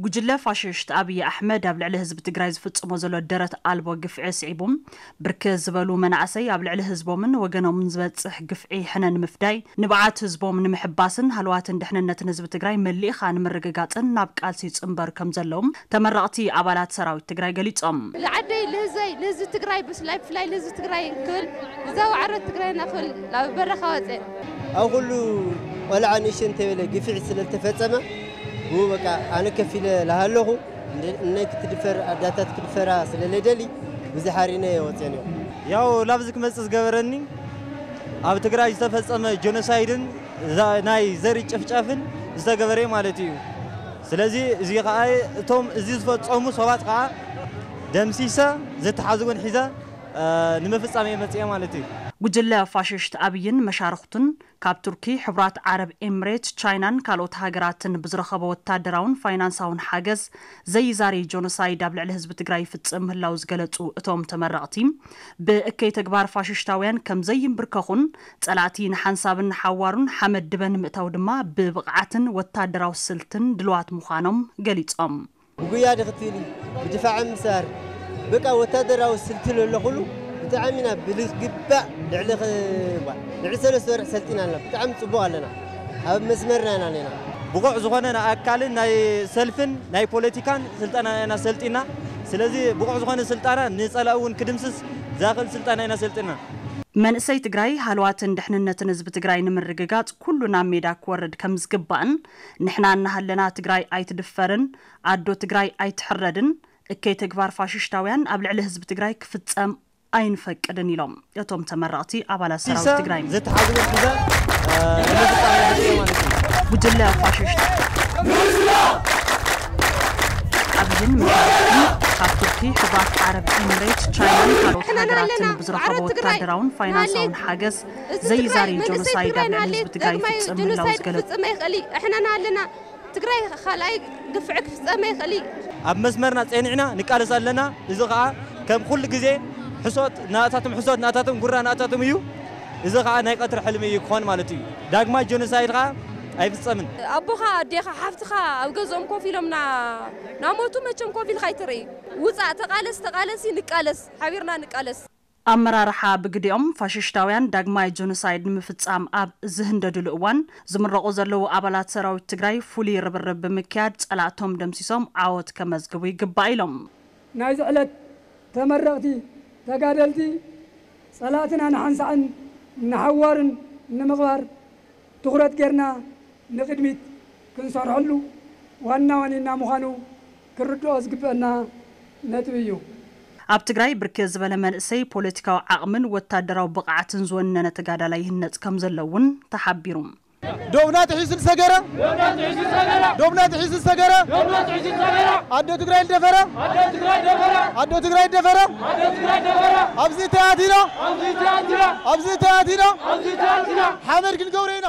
ጉጅለ ፋሽስት ኣብይ ኣሕመድ ኣብ ልዕሊ ህዝቢ ትግራይ ዝፍጽሞ ዘሎ ደረት ኣልቦ ግፍዒ ስዒቡ፣ ብርክት ዝበሉ መናእሰይ ኣብ ልዕሊ ህዝቦምን ወገኖምን ዝበጽሕ ግፍዒ ሕነ ንምፍዳይ፣ ንብዓት ህዝቦም ንምሕባስን ሃለዋትን ድሕንነትን ህዝቢ ትግራይ መሊእኻ ንምርግጋጽን ናብ ቃልሲ ይጽንበሩ ከም ዘለዎም ተመረቕቲ ኣባላት ሰራዊት ትግራይ ገሊጾም። ልዓደይ ልህዘይ ልህዝቢ ትግራይ ብፍላይ ብፍላይ ልህዝቢ ትግራይ ክብል እዛ ዋዕረት ትግራይና ክብል ናብ በረኻ ወፅኤ። ኣብ ኩሉ ቆልዓ ንእሽተይ እንተበለ ግፍዒ ስለ ዝተፈጸመ፣ ብኡ በቃ ኣነ ከፊለ ላሃለኹ፣ እንደ-፣ እነይ ክትድፈር ኣዳታት ክድፈራ ስለ ለደሊ ብዙሕ ሓሪነ ወፅኤን እዮም። ያው ላብዚ ክመጽእ ዝገበረኒ ኣብ ትግራይ ዝተፈጸመ ጆኖሳይድን ዛ-፣ ናይ ዘር ጭፍጨፍን ዝተገበረ ማለት እዩ። ስለዚ እዚ ከዓ እቶም እዚ ዝፈጸሙ ሰባት ከዓ ደምሲሰ ዝተሓዙ እውን ሒዘ፣ እ፣ ንምፍጻም እየ መጽየ ማለት እዩ። ጉጅለ ፋሽስት ኣብይን መሻርኽቱን ካብ ቱርኪ፣ ሕቡራት ዓረብ ኤምሬት፣ ቻይናን ካልኦት ሃገራትን ብዝረኸቦ ወታደራውን ፋይናንሳውን ሓገዝ ዘይዛሪ ጆኖሳይድ ኣብ ልዕሊ ህዝቢ ትግራይ ይፍጽም ምህላው ዝገለጹ እቶም ተመረቕቲ፣ ብእከይ ተግባር ፋሽስታውያን ከም ዘይንብርከኹን ጸላእቲ ንሓንሳብን ንሓዋሩን ሓመድ ድበ ንምእታው ድማ ብብቕዓትን ወታደራዊ ስልትን ድልዋት ምዃኖም ገሊጾም። ብጉያ ዶ ክትብሊ፣ ብድፋዕ ምሳር፣ በቃ ወታደራዊ ስልቲ ለሎ ኩሉ ብጣዕሚ ኢና ብዝግባእ ልዕሊ ኽ-፣ ዋ፣ ልዕሊ ሰለስተ ወርሒ ሰልጢና ኣለና። ብጣዕሚ ጽቡቕ ኣለና። ኣብ መስመርና ኢና ኣለና። ብቑዕ ዝኾነ ናይ ኣካልን ናይ ሰልፍን ናይ ፖለቲካን ስልጠና ኢና ሰልጢና። ስለዚ ብቑዕ ዝኾነ ስልጠና ንጸላኢ እውን ክድምስስ ዝኽእል ስልጠና ኢና ሰልጢና። መንእሰይ ትግራይ ሃለዋትን ድሕንነትን ህዝቢ ትግራይ ንምርግጋጽ ኩሉ ናብ ሜዳ ክወርድ ከም ዝግባእን ንሕና እናሃለና ትግራይ ኣይትድፈርን፣ ኣዶ ትግራይ ኣይትሕረድን፣ እከይ ተግባር ፋሽስታውያን ኣብ ልዕሊ ህዝቢ ትግራይ ክፍጸም ኣይንፈቅድን ኢሎም እቶም ተመረቕቲ ኣባላት ሰራዊት ሲሰ ትግራይ። ዝተሓዙ ሒዘ፣ እ፣ ንምፍጻም እየ ማለት እዩ። ጉጅለ ፋሽስት ኣብይን መሻርክቱን ካብ ቱርኪ፣ ሕቡራት ዓረብ ኤምሬት፣ ቻይናን ካልኦት ንሕና ሃገራትን ኣለና። ብዝረኸቦ ዓረብ ትግራይ ወታደራውን ፋይናንሳውን ንሃሊ። ሓገዝ እዚ ትግራይ ዘይዛሪ መንግስቲ ጆኖሳይድ ትግራይ ኣብ ልዕሊ ንሃሊ ህዝቢ ትግራይ ዳግማይ ይፍጽም ምህላው ጆኖሳይድ ዝገለጹ ክፍጽም ኣይኽእል እዩ። ንሕና ኣለና። ትግራይ ካልኣይ ግፍዒ ክፍጸም ኣይኽእል እዩ። ኣብ መስመርና ጸኒዕና ንቃለስ ኣለና። እዚ ኸኣ ከም ኩሉ ግዜ ሕሶት ናታቶም፣ ሕሶት ናታቶም፣ ጉራ ናታቶም እዩ። እዚ ኸኣ ናይ ቀትሪ ሕልሚ እዩ ክኾን ማለት እዩ። ዳግማይ ጆኖሳይድ ኸኣ ኣይፍጸምን። ኣቦኻ፣ ኣዴኻ፣ ሓፍትኻ ኣብ ገዝኦም ኮፍ ኢሎም ና-፣ ናሞቱ መቸም ኮፍ ኢልካ ኣይትርኢ። ውጻእ፣ ተቓለስ፣ ተቓለሲ፣ ንቃለስ፣ ሓቢርና ንቃለስ። ኣመራርሓ ብግዲኦም ፋሽስታውያን ዳግማይ ጆኖሳይድ ንምፍጻም ኣብ ዝህንደድሉ እዋን፣ ዝምረቑ ዘለዉ ኣባላት ሰራዊት ትግራይ ፍሉይ ርብርብ ብምክያድ ጸላእቶም ደምሲሶም ዓወት ከመዝግቡ ይግባእ ኢሎም። ናይዚ ዕለት ተመረቕቲ ተጋደልቲ፣ ጸላእትና ንሓንሳዕን ንሓዋሩን ንምቕባር ትኹረት ጌርና ንቕድሚት ክንሰርሐሉ ዋና ዋኒና ምዃኑ ክርድኦ ዝግበአና ነጥቢ እዩ። ኣብ ትግራይ ብርክት ዝበለ መንእሰይ ፖለቲካዊ ዓቕምን ወታደራዊ ብቕዓትን ዝወነነ ተጋዳላይ ይህነጽ ከም ዘሎ እውን ተሓቢሩ። ዶብና ጥሒሱ ዝሰገረ፣ ዶብና ጥሒሱ ዝሰገረ፣ ኣዶ ትግራይ ዝደፈረ፣ ኣዶ ትግራይ ዝደፈረ፣ ኣብዚ እንታይ ኣቲና፣ ኣብዚ እንታይ ኣቲና፣ ሓመድ ክንገብሮ ኢና።